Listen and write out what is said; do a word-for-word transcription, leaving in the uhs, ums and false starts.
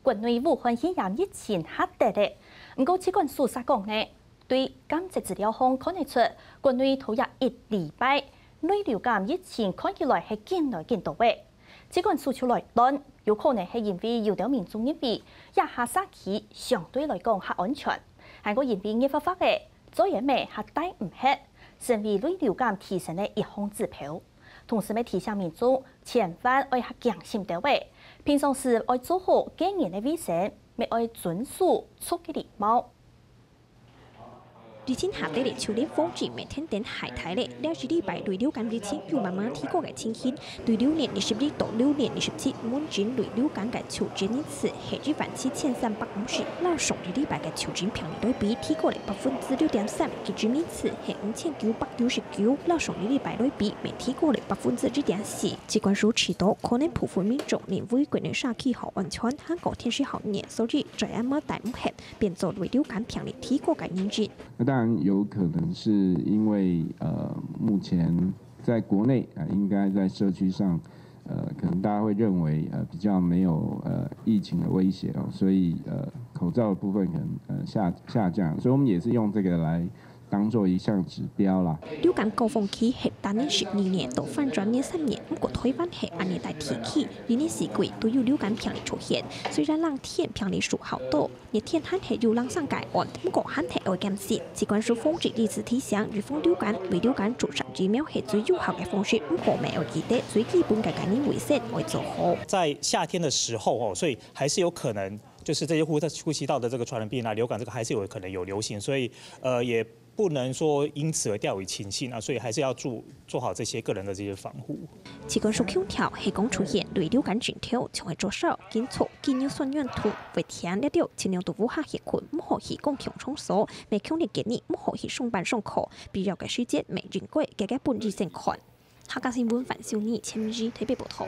國內武漢肺炎疫情較跌咧，毋過疾管署煞講呢，對監測資料項看得出，國內頭一一禮拜內流感疫情看起來係緊來緊多仔。疾管署就來斷，有可能係因為有兜民眾認為這下社區相對來講較安全，還過因為熱發發仔，嘴仔乜較戴毋核，成為內流感提升个一項指標。同時乜提醒民眾，千萬愛較警醒兜仔，平常時愛做好個人个衛生，乜愛遵守著个禮貌。 疫情下跌咧，樹林風景乜天天還在咧。這一禮拜內流感疫情有慢慢提高个情形，對流年二十一到流年二十七，門診內流感个求診人次係一萬七千三百五十，摎上一禮拜个求診病例來比，提高咧百分之六點三，急診人次係五千九百九十九，摎上一禮拜來比，乜提高咧百分之一點四。疾管署知道，可能部分民眾認為國內社區較安全，還過天時較熱，所以嘴仔乜戴毋核， 變做內流感病例提高个原因。那當然有可能是因為呃，目前在國內啊、呃，應該在社區上，呃，可能大家會認為呃比較沒有呃疫情的威脅哦，所以呃口罩的部分可能呃下下降，所以我們也是用這個來當做一項指標啦。流感高峰期係逐年十二月到反轉年三月，毋過台灣係恁呢大地區，一年四季都有流感病例出現。雖然冷天病例數較多， 熱天還係有零星个案，毋過還係愛減少。疾管署防疫一直提醒，預防流感、內流感注射疫苗係最有效个方式，毋過乜愛記得最基本个個人衛生愛做好。在夏天的時候哦，所以還是有可能就是這些呼呼吸道的這個傳染病啊，流感這個還是有可能有流行，所以呃也不能說因此而掉以輕心啊，所以還是要注做好這些個人的這些防護。疾管署強調，係講出現內流感症頭，就愛著手、緊搓、緊用酸軟土、會疼這兜，盡量佇屋下歇睏，毋好去公共場所，乜強烈建議毋好去上班上課，必要个時節乜應該遽遽分醫生看。客家新聞范秀妮、千美台北報導。